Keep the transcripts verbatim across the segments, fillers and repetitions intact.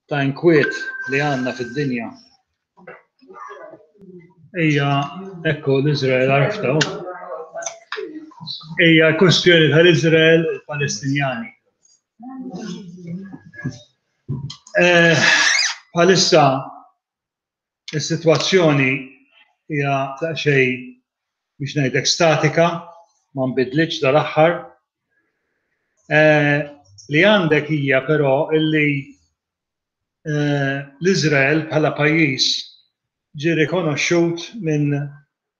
ta' inkwiet li għandna fid-dinja hija, ekku, l-Iżrael, għarafta, hija kwestjoni tal-Iżrael u l-Palestinjani. Bħalissa is-sitwazzjoni hija daqsxejn, biex ngħidlek, statika, ma nbidlitx dal-aħħar. Li għandek hija però illi l-Iżrael bħala pajjiż ġie rikonoxxut minn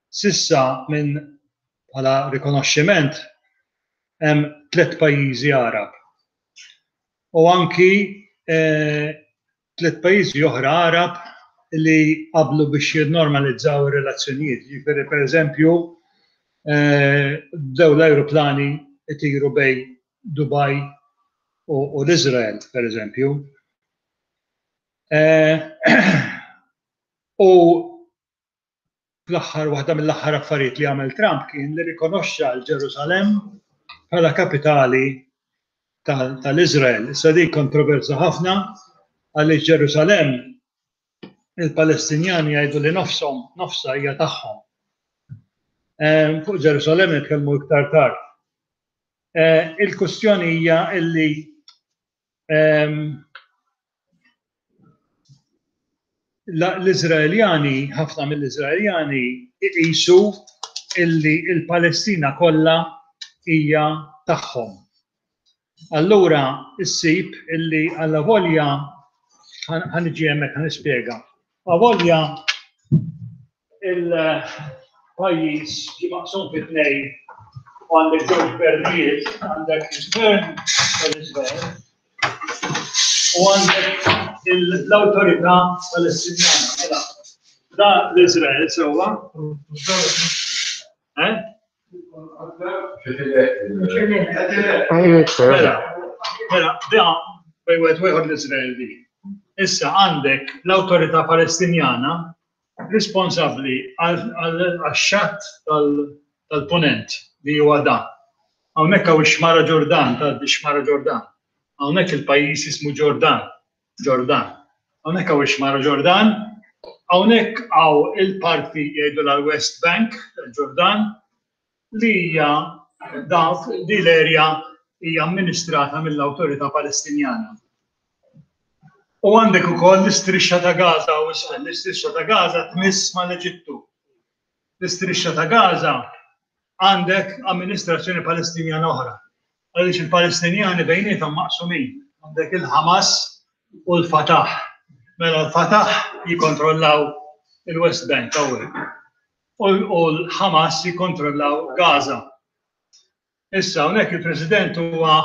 sissa minn bħala rikonoxximent hemm tliet pajjiżi Arab. U anki tliet pajjiżi oħra Arab li qablu biex jinnormalizzaw ir-relazzjonijiet. Jiġifieri, pereżempju, bdew l-ajruplani itiru bejn Dubai u l-Iżrael, pereżempju. U fl-aħħar, waħda mill-aħħar affarijiet li għamel Trump kien li rikonoxxa l-Ġerusalemm bħala kapitali tal-Iżrael. Issa din kontroversa ħafna għaliex Ġerusalemm il-Palestinjani jgħidu li nofshom, nofsa hija tagħhom. Fuq Ġerusalemm nitkellmu iktar tard. Il-kwestjoni hija illi l-Iżraeljani, ħafna mill-Iżraeljani iqisu illi l-Palestina kollha hija tagħhom. Allura issib illi allavolja, ħa niġi hemmhekk, ħa nispjega. Avolja il-pajjiż ġie maqsum fi tnejn u għandek żewġ gvernijiet, għandek il-gvern tal-Iżrael u għandek l-awtorità Palestinjana. Mela, da l-Iżrael sewwa. Eh? Mela, mela, da bejn wieħed u ieħor l-Iżrael di. Issa għandek l-awtorità Palestinjana responsabbli għax-xatt tal-punent li huwa dan. Hawnhekk hawn ix-xmara Ġordan, tgħaddi x-xmara Ġordan. Hawnhekk il-pajjiż jismu Ġordan, Ġordan. Hawnhekk hawn ix-xmara Ġordan, hawnhekk hawn il-parti jgħidulha l-West Bank tal-Ġordan li hija dawk di l-erja hija amministrata mill-Awtorità Palestinjana. U għandek ukoll l-istrixxa ta' Gaza u isfel. L-istrixxa ta' Gaza tmiss mal-Eġittu. L-istrixxa ta' Gaza għandek amministrazzjoni Palestinjana oħra. Għaliex il-Palestinjani bejniethom maqsumin. Għandek il-Hamas u l-Fatah. Mela l-Fatah jikkontrollaw il-West Bank hawnhekk. U l-Hamas jikkontrollaw Gaza. Issa hawnhekk il-President huwa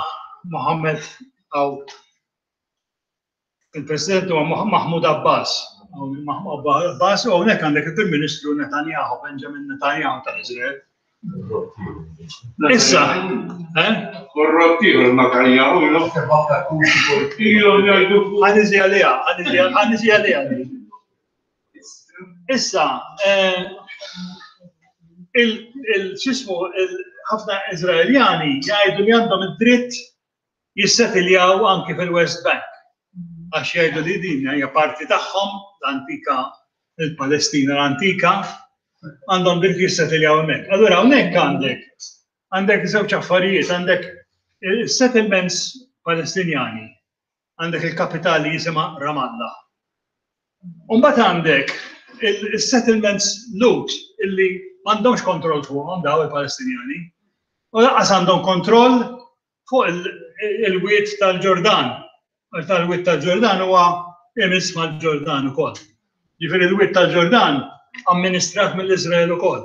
Mohammed aw il-President huwa Mahmoud Abbas. Mahmoud Abbas, u hawnhekk għandek il-Prim Ministru Netanyahu, Benjamin Netanyahu tal-Iżrael. Issa, eh? Korrotti Netanyahu, ilhom jgħidu. Ħa niġi għaliha, ħa niġi għaliha. Issa, il-xismu, ħafna Iżraeljani jgħidu li għandhom id-dritt jissetiljaw anki fil-West Bank. Għax jgħidu li din hija parti tagħhom, l-antika, il-Palestina l-antika, għandhom dritt jissetiljaw hemmhekk. Allura hawnhekk għandek għandek żewġ affarijiet, għandek settlements Palestinjani, għandek il-kapitali jisimha Ramallah. U mbagħad għandek il-settlements Lhud illi m'għandhomx kontroll fuqhom daw il-Palestinjani, u lanqas għandhom kontroll fuq il-wied tal-Ġordan. Tal-wied tal-Ġordan huwa imiss mal-Ġordan ukoll. Ġifieri l-wied tal-Ġordan amministrat mill-Iżrael ukoll.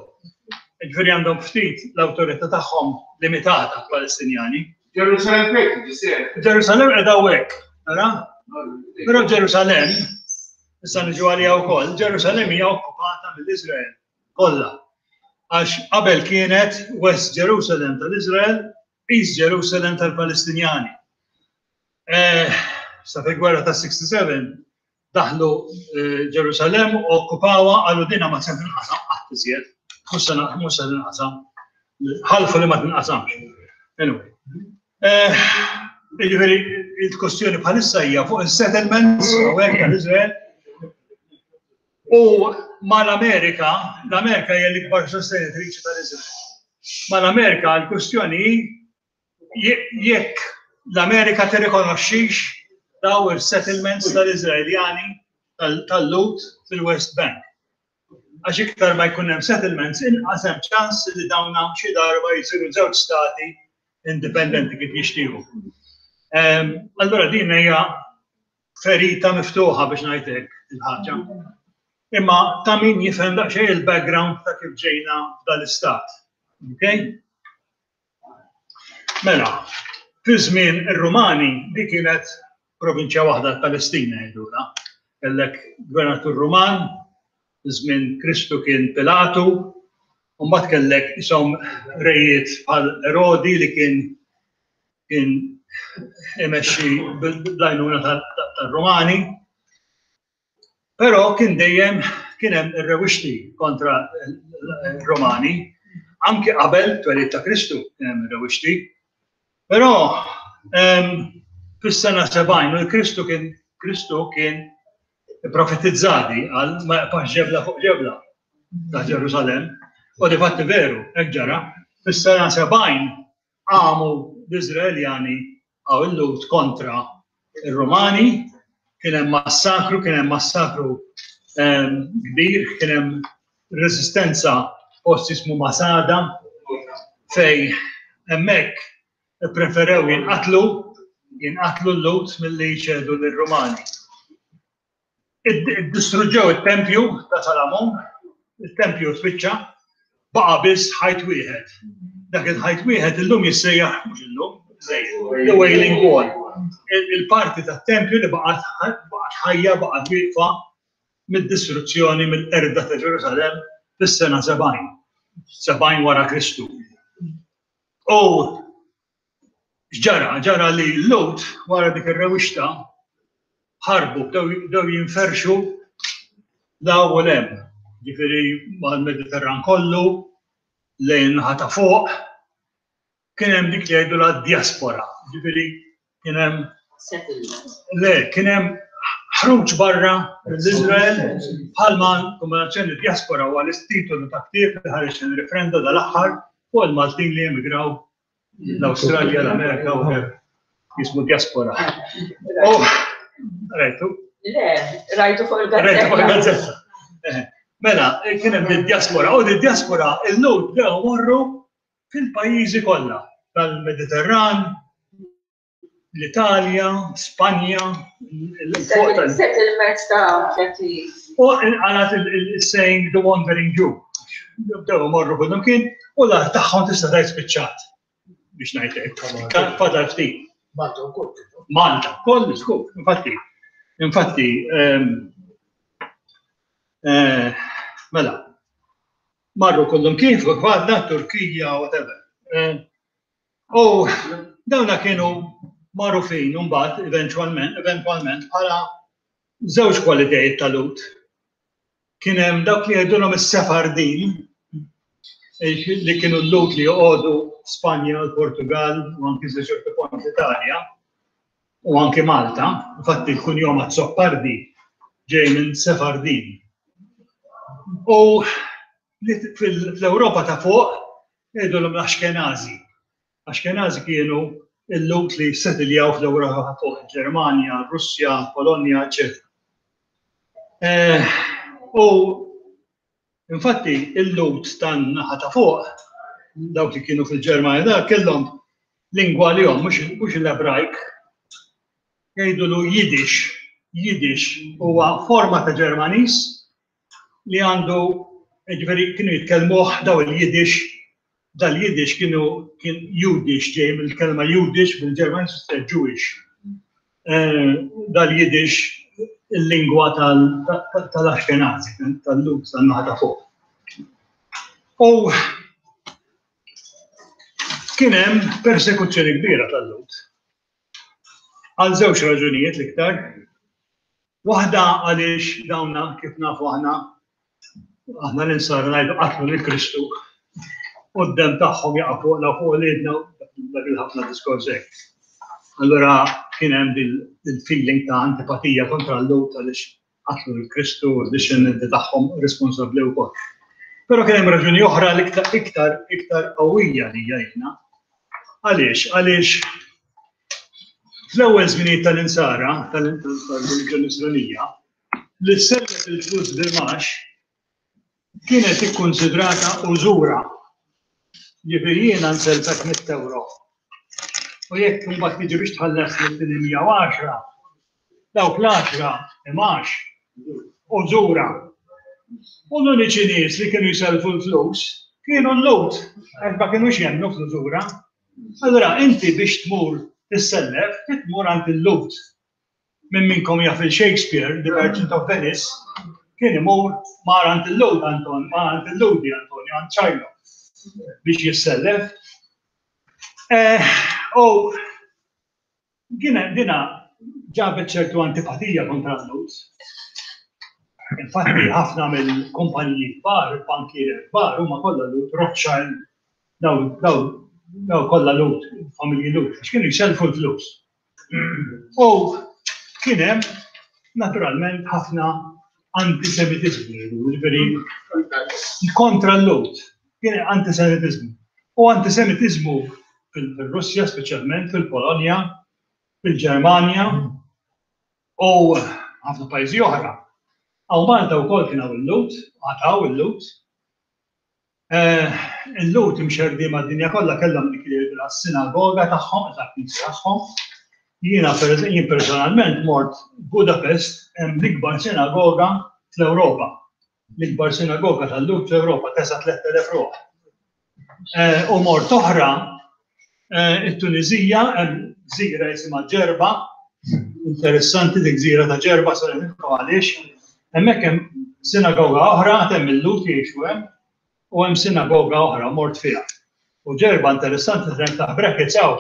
Ġifieri għandhom ftit l-awtorità tagħhom limitata Palestinjani. Ġerusalem fejn tiġi? Ġerusalem qiegħda hawnhekk, tara? Però Ġerusalem, issa niġu għaliha wkoll, Ġerusalem hija okkupata mill-Iżrael kollha. Għax qabel kienet West Jerusalem tal-Iżrael, East Jerusalem tal-Palestinjani. Sa fil-gwerra ta' sixty-seven daħlu Ġerusalem u okkupawha, qalu dina ma se tinqasam qatt iżjed, mhux se tinqasam, ħalfu li ma tinqasamx. Anyway. Jiġifieri il-kwestjoni bħalissa hija fuq il-settlements hawnhekk tal-Iżrael u mal-Amerika, l-Amerika hija l-ikbar sostenitriċi tal-Iżrael. Mal-Amerika l-kwestjoni hi jekk l-Amerika tirrikonoxxix daw il-settlements tal-Iżraeljani tal-Lhud fil-West Bank. Għax iktar ma jkun hemm settlements, inqas hemm ċans li dawna xi darba jsiru żewġ stati indipendenti kif jixtiequ. Allura din hija ferita miftuħa biex ngħidlek il-ħaġa. Imma ta' min jifhem daqsxejn il-background ta' kif ġejna dal-istat. Okay? Mela, fi żmien ir-Rumani di kienet provinċja waħda Palestina jgħidulha. Kellek gvernatur Ruman, żmien Kristu kien Pilatu, u mbagħad kellek isom rejiet bħal Erodi li kien kien imexxi bl-għajnuna tar-Rumani. Però kien dejjem kien hemm ir-rewixti kontra r-Romani, anki qabel twelid ta' Kristu kien hemm ir-rewixti. Però fis-sena sebgħin u Kristu kien Kristu kien profetizzati għal ma jaqpax ġebla fuq ġebla ta' Ġerusalem. U di fatti veru, hekk ġara, fis-sena sebgħin qamu l-Iżraeljani għaw il-Lhud kontra il-Romani, kien hemm massakru, kien hemm massakru kbir, kien hemm resistenza post jismu Masada, fej hemmhekk preferew jinqatlu, jinqatlu l-Lhud milli jċedu lir-Romani. Distruġġew it-tempju ta' Salamon, il-tempju spiċċa, baqa' biss ħajt wieħed. Dak il-ħajt wieħed illum jissejjaħ mhux illum, The Wailing Wall. Il-parti tat-tempju li baqgħet ħajja, baqgħet wieqfa mid-distruzzjoni mill-qerda ta' Ġerusalem fis-sena sebgħin, sebgħin wara Kristu. U ġara, ġara li l-Lhud wara dik ir-rewixta ħarbu, bdew jinferxu law u lem, ġifieri mal-Mediterran kollu, lejn naħa ta' fuq, kien hemm dik li jgħidu la diaspora, ġifieri kien hemm Le, kien hemm ħruġ barra l-Iżrael bħalma kombinazzjoni diaspora huwa l-titolu ta' ktieb li ħareġ il-referenda dal-aħħar fuq il-Maltin li emigraw l-Awstralja, l-Amerika u jismu diaspora. Oh, rajtu? Le, rajtu fuq il-gazzetta. Rajtu fuq il-gazzetta. Mela, kien hemm id-diaspora, u d-diaspora il-Lhud bdew morru fil-pajjiżi kollha tal-Mediterran, l-Italja, Spanja, Settlements ta' ċerti. U għalat il-saying the wandering Jew. Bdew morru kullum kien u l-art tagħhom tista' tgħid spiċċat biex ngħidlek. Fadal ftit. Malta wkoll. Malta wkoll, żgur, infatti. Infatti, mela, marru kullum kien fuq għadna Turkija, whatever. U dawna kienu magħrufin mbagħad eventwalment, eventwalment bħala żewġ kwalitajiet tal-Lhud. Kien hemm dawk li jgħidulhom is-Sefardin, li kienu l-Lhud li joqogħdu Spanja, l-Portugal u anki sa ċertu punt l-Italja u anki Malta. Infatti l-kunjom Azzopardi ġej minn Sefardin. U fl-Ewropa ta' fuq jgħidulhom l-Ashkenazi. Ashkenazi kienu il-Lhud li settiljaw fl-Ewropa ta' fuq, Ġermanja, Russja, Polonja, eċċetera. U infatti il-Lhud tan-naħa ta' fuq, dawk li kienu fil-Ġermanja, da kellhom lingwa li hom mhux l-Ebrajk, jgħidulu Yiddish. Yiddish huwa forma ta' Ġermaniż li għandu, ġifieri kienu jitkellmuh daw il-Yiddish, dal-Yiddish kienu kien Judish ġej mill-kelma Judish bil-Ġermaniż tfisser Jewish. Dal-Yiddish il-lingwa tal-Ashkenazi, tal-Lhud tan-naħa ta' fuq. U kien hemm persekuzzjoni kbira tal-Lhud. Għal żewġ raġunijiet l-iktar. Waħda għaliex dawna kif nafu aħna, aħna l-insara ngħidu qatlu lil Kristu u d-dem tagħhom jaqa' fuqna fuq uliedna dak il-ħafna diskors hekk. Allura kien hemm il-feeling ta' antipatija kontra l-Lhud għaliex qatlu l-Kristu u d-dixxendenti tagħhom responsabbli wkoll. Però kien hemm raġuni oħra l-iktar iktar iktar qawwija li hija jiena. Għaliex? Għaliex fl-ewwel żminijiet tal-insara, tal-reliġjoni Nisranija, li ssellef il-flus bil-mgħax kienet ikkunsidrata użura. Jiġifieri jiena nsellfek mitt euro. U jekk imbagħad tiġi biex tħallas li mija u għaxra, dawk l-għaxra imgħax użura. U l-uniċi nies li kienu jsellfu l-flus kienu l-Lhud, għax ma kinux jemmnu fl-użura. Allura inti biex tmur tissellef, tmur għand il-Lhud. Min minnkom jaf il-Shakespeare, The Merchant of Venice, kien imur mar għand il-Lhud Anton, mar għand il-Lhudi Antonio, għand Shylock biex jissellef. U dina ġabet ċertu antipatija kontra l-Lhud. Infatti ħafna mill-kumpaniji kbar, il-bankieri kbar, huma kollha Lhud, Rothschild, daw daw daw kollha Lhud, familji Lhud, għax kienu jsellfu l-flus. U kien hemm naturalment ħafna antisemitizmu, jiġifieri kontra l-Lhud, kien antisemitizmu. U antisemitizmu fil-Russja, speċjalment fil-Polonja, fil-Ġermanja u ħafna pajjiżi oħra. Hawn Malta wkoll kien hawn il-Lhud, għad hawn il-Lhud. Il-Lhud imxerrdin mad-dinja kollha kellhom dik li jgħidu s-sinagoga tagħhom, il-knisja tagħhom. Jiena jien personalment mort Budapest, hemm l-ikbar sinagoga fl-Ewropa. L-ikbar sinagoga tal-Lhud fl-Ewropa tesa' tlett elef ruħ. U mort oħra, it-Tunizija, hemm gżira jisimha Ġerba, interessanti dik gżira ta' Ġerba, se ngħidilkom għaliex. Hemmhekk hemm sinagoga oħra, hemm il-Lhud jgħixu hemm, u hemm sinagoga oħra mort fiha. U Ġerba interessanti se niftaħ brackets hawn.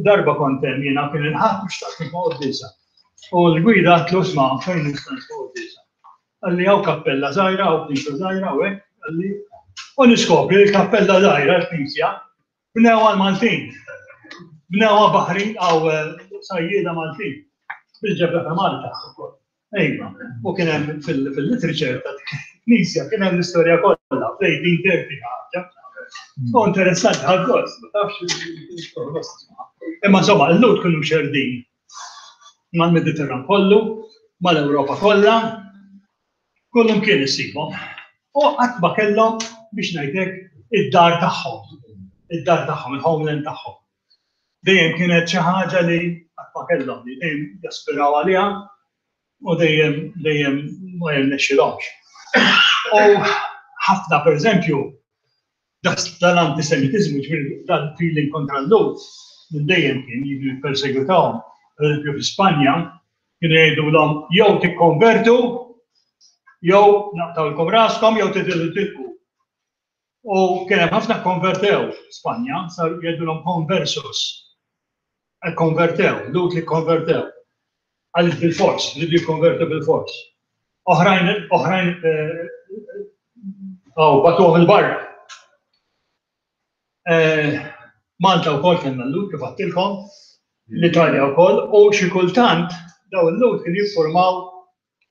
Darba kont hemm jiena kien il-Ħadd biex xtaqt nitfa' quddiesa. U l-gwida għatlu isma' fejn nista' nitfa' quddiesa. Qalli hawn kappella żgħira, hawn knisja żgħira u hekk, qalli. U niskopri li l-kappella żgħira l-knisja bnewha l-Maltin. Bnewha baħrin għaw sajjieda Maltin. Bil-ġebla ta' Malta ukoll. Ejma, u kien hemm fil-literature ta' knisja kien hemm l-istorja kollha, fl-eighteen thirty ħaġa. U interessanti ħadd gost, ma tafx. Imma insomma, l-Lhud kienu mxerdin mal-Mediterran kollu, mal-Ewropa kollha, kollhom kien issibhom. U qatt ma kellhom biex ngħidlek id-dar tagħhom, id-dar tagħhom, il-homeland tagħhom. Dejjem kienet xi ħaġa li qatt ma kellhom, li dejjem jaspiraw għaliha u dejjem dejjem ma jirnexxilhomx. U ħafna pereżempju dal-antisemitizmu, ġifieri dal-feeling kontra l-Lhud, minn dejjem kien jiġu jippersegwitawhom. Per eżempju fi Spanja kienu jgħidulhom jew tikkonvertu, jew naqtawlkom raskom, jew titilgħu tilqu. U kien hemm ħafna konvertew Spanja, sar jgħidulhom conversos. Konvertew, Lhud li konvertew. Għaliex bil-fors, li jikkonvertu bil-fors. Oħrajn, oħrajn, għaw, batuhom il-barra. Malta wkoll kellna l-Lhud kif għedtilkom, l-Italja wkoll, u xi kultant daw il-Lhud kienu jiffurmaw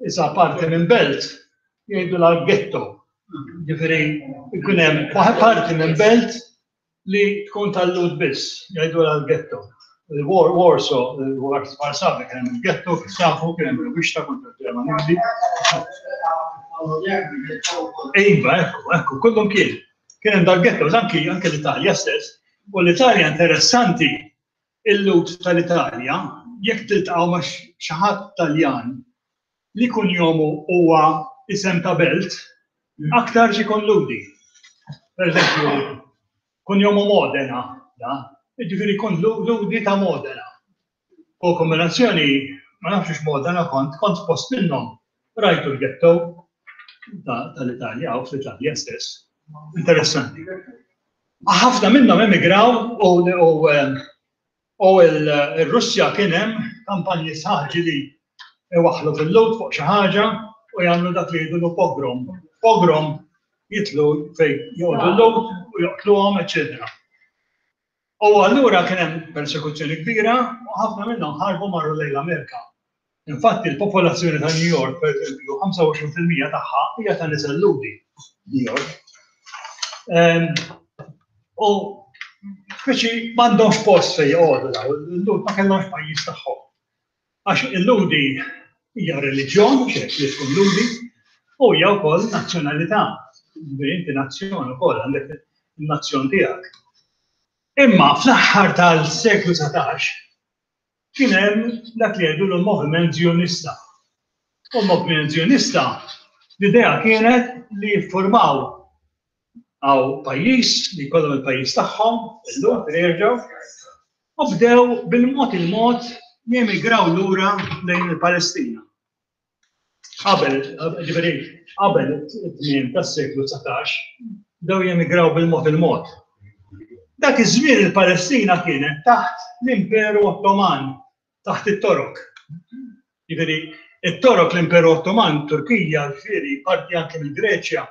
isa parti minn belt, jgħidu la ghetto. Ġifieri jkun hemm parti minn belt li tkun tal-Lhud biss, jgħidu la ghetto. Il-Warsaw, Varsavia kien hemm il-ghetto, kif tafu, kien hemm rewwixta kontra l-Ġermaniżi. Iva, ekku, ekku, kullum kien. Kien hemm dal-ghetto, anki anke l-Italja stess. U l-Italja interessanti, il-Lhud tal-Italja, jekk tiltaqgħu ma' xi ħadd Taljan li kunjomu huwa isem ta' belt, aktar xi jkun Lhudi. Per eżempju, kunjomu Modena, da, jiġifieri jkun Lhudi ta' Modena. U kombinazzjoni, ma nafx Modena kont, kont post minnhom, rajtu l-ghetto tal-Italja, u fl-Italja stess. Interessanti. Ħafna minnhom emigraw u u l-Russja kien hemm kampanji sħaħ li iwaħħlu fil-Lhud fuq xi ħaġa u jagħmlu dak li jgħidulu pogrom. Pogrom jitlu fejn joqogħdu l-Lhud u joqtluhom, eċċetera. U allura kien hemm persekuzzjoni kbira u ħafna minnhom ħarbu, marru lejn l-Amerika. Infatti il-popolazzjoni ta' New York, per eżempju, ħamsa u għoxrin fil-mija tagħha hija ta' nisel Lhudi, New York. Ehm, U speċi m'għandhomx post fejn joqogħdu daw, il-Lhud ma kellhomx pajjiż tagħhom. Għax il-Lhudi hija reliġjon, mhux hekk li tkun Lhudi, u hija wkoll nazzjonalità. Ġifieri inti nazzjon ukoll, għandek il-nazzjon tiegħek. Imma fl-aħħar tal-seklu dsatax kien hemm dak li jgħidu l-moviment Zionista. U l-moviment Zionista, l-idea kienet li jiffurmaw għaw pajjiż, li jkollhom il-pajjiż tagħhom, illum jerġgħu, u bdew bil-mod il-mod jemigraw lura lejn il-Palestina. Qabel, ġifieri, qabel it-tmiem tas-seklu dsatax, bdew jemigraw bil-mod il-mod. Dak iż-żmien il-Palestina kienet taħt l-Imperu Ottoman, taħt it-Torok. Ġifieri, it-Torok, l-Imperu Ottoman, Turkija, ġifieri, parti anke mill-Greċja,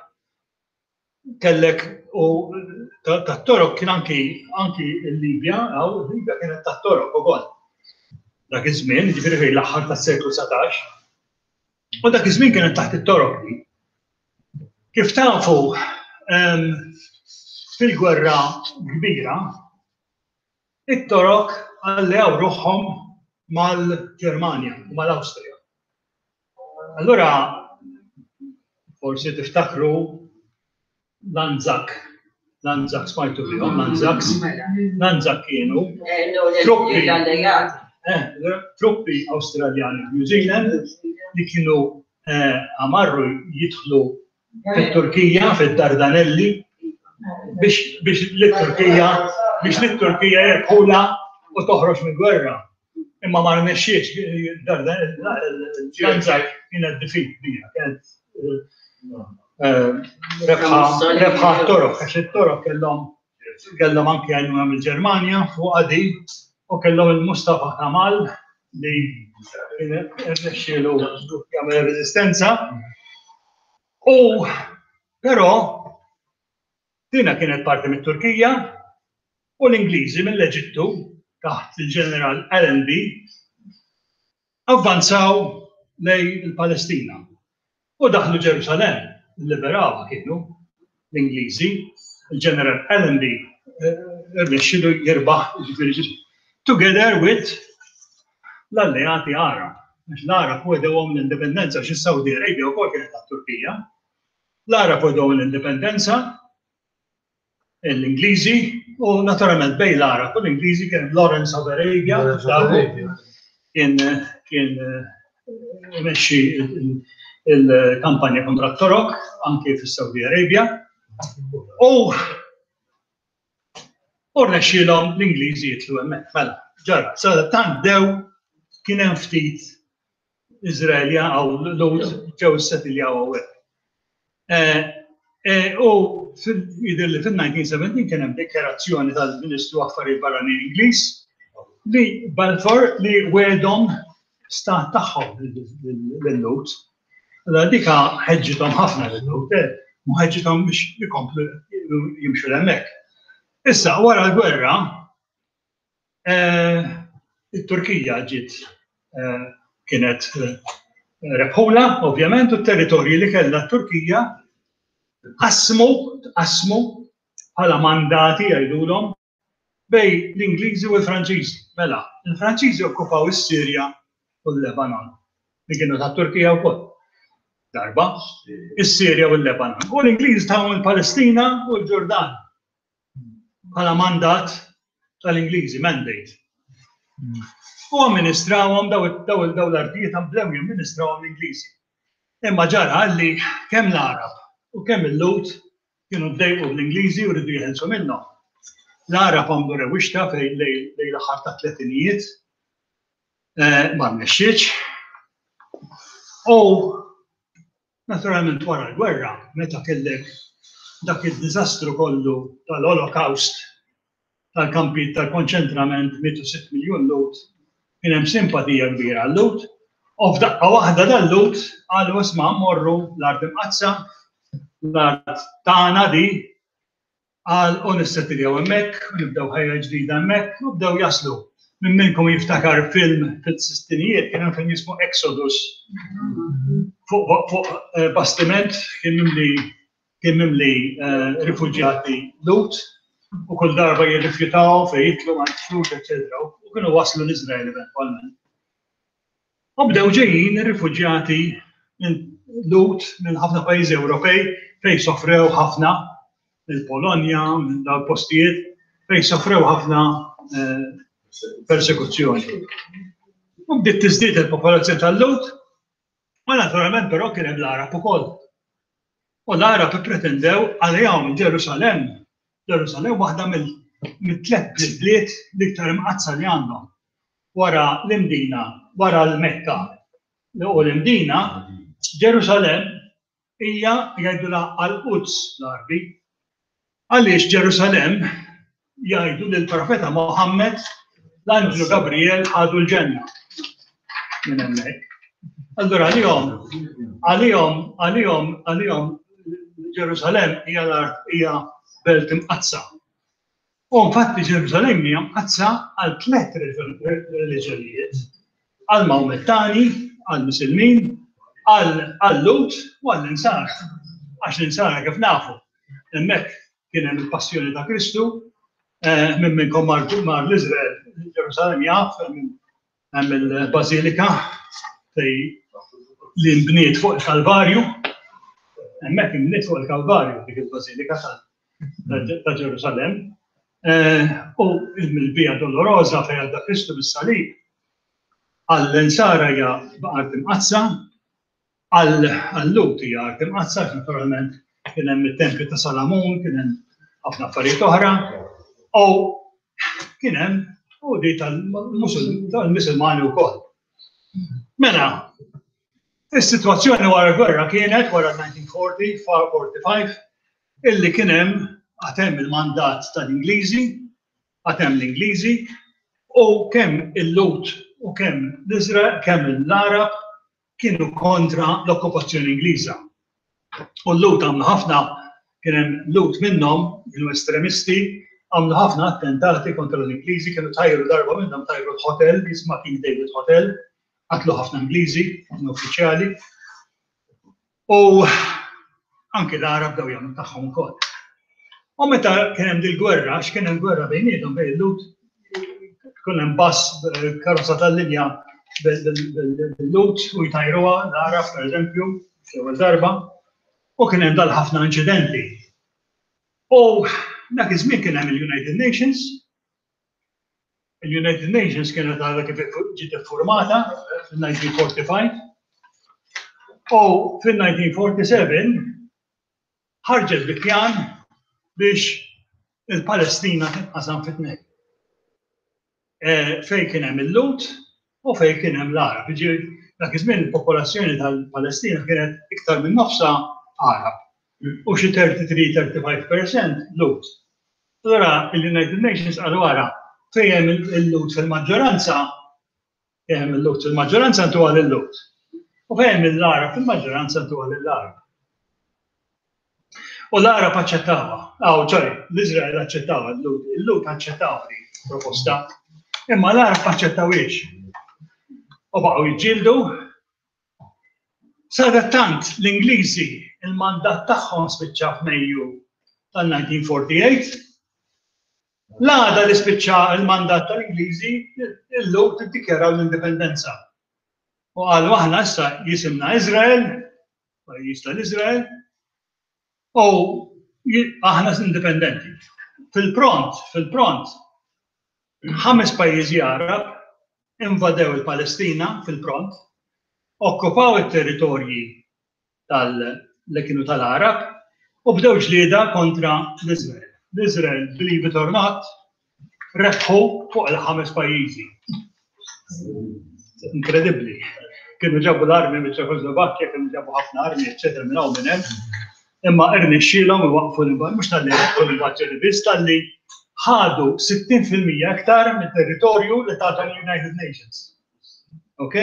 kellek u tat-Torok kien anki anki l-Libja, għaw l-Libja kienet tat-Torok ukoll. Dak iż-żmien, ġifieri fejn l-aħħar tas-seklu dsatax. U dak iż-żmien kienet taħt it-Torok. Kif tafu, em, fil-gwerra kbira, it-Torok alleaw ruħhom mal-Ġermanja u mal-Awstrija. Allura, forsi tiftakru l-Anzac. L-Anzac smajtu bihom, l-Anzacs. L-Anzac kienu truppi. L-alleati. eh, truppi Awstraljani u New Zealand li kienu eh, għamarru jidħlu fit-Turkija, fid-Dardanelli, biex biex l-Turkija biex l-Turkija jirbħula u toħroġ minn gwerra. Imma ma rnexxiex, l-Anzac kienet defeat kbira, kienet eh, rebħa rebħa Torok, għax it-Torok kellhom kellhom anki għajnuna mill-Ġermanja fuq għadi u kellhom il-Mustafa Kamal li rnexxielu jagħmel reżistenza. U però dina kienet parti mit-Turkija u l-Ingliżi mill-Eġittu taħt il-ġeneral Allenby avvanzaw lejn il-Palestina u daħlu Ġerusalem, liberawha kienu l-Ingliżi, il-ġeneral Allenby irnexxielu jirbaħ, ġifieri together with l-alleati Arab. Għax l-Arab wegħdewhom l-indipendenza, għax is-Saudi Arabia wkoll kienet tat-Turkija. L-Arab wegħdewhom l-indipendenza, l-Ingliżi, u naturalment bejn l-Arab u l-Ingliżi kien Lawrence of Arabia, kien kien imexxi il-kampanja kontra t-Torok anke fis-Saudi Arabia. U u rnexxielhom l-Ingliżi jidħlu hemmhekk. Mela, ġara, sa tant dew kien hemm ftit Iżraelja għaw Lhud ġew issettiljaw hawnhekk. U jidher li fil-elf disa' mija u sbatax kien hemm dikjarazzjoni tal-Ministru Affarijiet Barranin Ingliż li Balfour li wegħedhom stat tagħhom lil-Lhud. Allora dika ħeġġithom ħafna lil-Lhud, u ħeġġithom biex ikomplu jimxu l-hemmhekk. Issa, wara l-gwerra, it-Turkija ġiet kienet rebħula, ovvjament, u t-territorji li kellha t-Turkija qasmu, qasmu bħala mandati jgħidulhom bejn l-Ingliżi u l-Franċiżi. Mela, il-Franċiżi okkupaw is-Sirja u l-Lebanon, li kienu ta' Turkija wkoll. Darba, is-Sirja u l-Lebanon. U l-Ingliżi tawhom il-Palestina u l-Ġordan bħala mandat tal-Ingliżi, mandate. U amministrawhom daw daw daw l-artijiet, bdew jamministrawhom l-Ingliżi. Imma ġara li kemm l-Arab u kemm il-Lhud kienu ddejqu bl-Ingliżi u rridu jeħelsu minnhom. L-Arab għamlu rewwixta fej lejn l-aħħar ta' tletinijiet, ma rnexxietx. U naturalment wara l-gwerra, meta kellek dak il-diżastru kollu tal-Holocaust, tal-kampi tal-konċentrament, mietu sitt miljun Lhud, kien hemm simpatija kbira għal-Lhud, u f'daqqa waħda dal-Lhud qalu, "Isma', morru l-art imqaddsa, l-art tagħna di." Qal u nissettiljaw hemmhekk, u nibdew ħajja ġdida hemmhekk, u bdew jaslu. Min minnkom jiftakar film fis-sittinijiet, kien hemm film jismu Exodus. Fuq fuq eh, bastiment kien mimli kien mimli eh, rifuġjati Lhud u kull darba jirrifjutaw fejn jitlu ma jidħlux, eċetera. U kienu waslu l-Iżrael eventwalment. U bdew ġejjin ir-rifuġjati minn Lhud minn ħafna pajjiżi Ewropej fejn sofrew ħafna, mill-Polonja, minn dawn postijiet fejn sofrew ħafna eh, persekuzzjoni. U bdiet tiżdied il-popolazzjoni tal-Lhud, ma naturalment però kien hemm l-Arab ukoll. U l-Arab ippretendew għalihom Ġerusalemm. Ġerusalemm waħda mill-tliet bliet l-iktar imqaddsa li għandhom. Wara l-Imdina, wara l-Mekka u l-Imdina, Ġerusalemm hija jgħidulha Al-Quds l-Arbi. Għaliex Ġerusalemm jgħidu li l-profeta Mohammed, l-anġlu Gabriel, ħadu l-ġenna minn hemmhekk. Allura għalihom, għalihom, għalihom, għalihom Ġerusalemm hija l-art hija belt imqaddsa. U infatti Ġerusalemm hija mqaddsa għal tliet reliġjonijiet: għal Mawmettani, għal Misilmin, għal Lhud u għall Insara. Għax l-Insara kif nafu, hemmhekk kien hemm il-passjoni ta' Kristu, eh, minn minnkom mar mar l-Iżrael, Ġerusalemm jaf, hemm il-Bażilika fej li nbniet fuq il-Kalvarju, hemmhekk inbniet fuq il-Kalvarju dik il-Bażilika ta' Ġerusalemm. Eh, u il-Via Dolorosa fejn għadda Kristu bis-salib għall-Insara hija art imqaddsa, għall-Lhud hija art imqaddsa, naturalment kien hemm it-tempju ta' Salamun, kien hemm ħafna affarijiet oħra, u kien hemm u di tal-Musulmani wkoll. Mela, is-sitwazzjoni wara l-gwerra kienet wara elf disa' mija u erbgħa u erbgħin, illi kien hemm għad hemm il-mandat tal-Ingliżi, għad hemm l-Ingliżi, u kemm il-Lhud u kemm l-Iżrael, kemm l-Arab kienu kontra l-okkupazzjoni Ingliża. U l-Lhud għamlu ħafna, kien hemm Lhud minnhom, kienu estremisti, għamlu ħafna attentati kontra l-Ingliżi, kienu tajru darba minnhom tajru l-hotel, jisma King David Hotel, qatlu ħafna Ingliżi, ħafna uffiċjali. U anki l-Arab bdew jagħmlu tagħhom ukoll. U meta kien hemm dil-gwerra, għax kien hemm gwerra bejniethom, bejn il-Lhud, kien hemm bus, karozza tal-linja bil-Lhud u jtajruha l-Arab, per eżempju, l-ewwel darba, u kien hemm dal-ħafna inċidenti. U dak iż-żmien kien hemm il-United Nations. Il-United Nations kienet għadha kif ġiet iffurmata fil-elf disa' mija u erbgħa u erbgħin. U fil-elf disa' mija u erbgħa u sebgħin ħarġet bi pjan biex il-Palestina tinqasam fi tnejn. Eh, Fejn kien hemm il-Lhud u fejn kien hemm l-Arab. Jiġifieri dak iż-żmien il-popolazzjoni tal-Palestina kienet iktar minn nofsa Arab u xi tlieta u tletin-tlieta u tletin fil-mija Lhud. Allura il-United Nations qalu, wara, fejn hemm il-Lhud fil-maġġoranza, fejn hemm il-Lhud fil-maġġoranza ntuha lil-Lhud. U fejn hemm l-Arab fil-maġġoranza ntuha lill-Arab. U l-Arab aċċettawha. Aw, sorry, l-Iżrael aċċettawha, il-Lhud aċċettaw di proposta. Imma l-Arab aċċettawhiex. U baqgħu jiġġieldu. Sadattant l-Ingliżi il-mandat tagħhom spiċċa f'Mejju tal-elf disa' mija u erbgħa u erbgħin. L-għada li spiċċa il-mandat tal-Ingliżi, il-Lhud iddikjaraw l-indipendenza. U qalu, aħna issa jisimna Izrael, pajjiż tal-Izrael, u aħna indipendenti. Fil-pront, fil-pront, ħames pajjiżi Arab invadew il-Palestina fil-pront, okkupaw it-territorji tal li kienu tal-Arab u bdew ġlieda kontra l-Izrael. L-Izrael, believe it or not, rebħu fuq il-ħames pajjiżi. Inkredibbli. Kienu ġabu l-armi minn Ċekoslovakkja, kienu ġabu ħafna armi, eccetera, minn hawn, minn hemm. Imma irnexxielhom iwaqfu l-invażjoni, mhux talli rebħu l-invażjoni biss, talli ħadu sittin fil-mija iktar mit-territorju li tathom United Nations. Ok?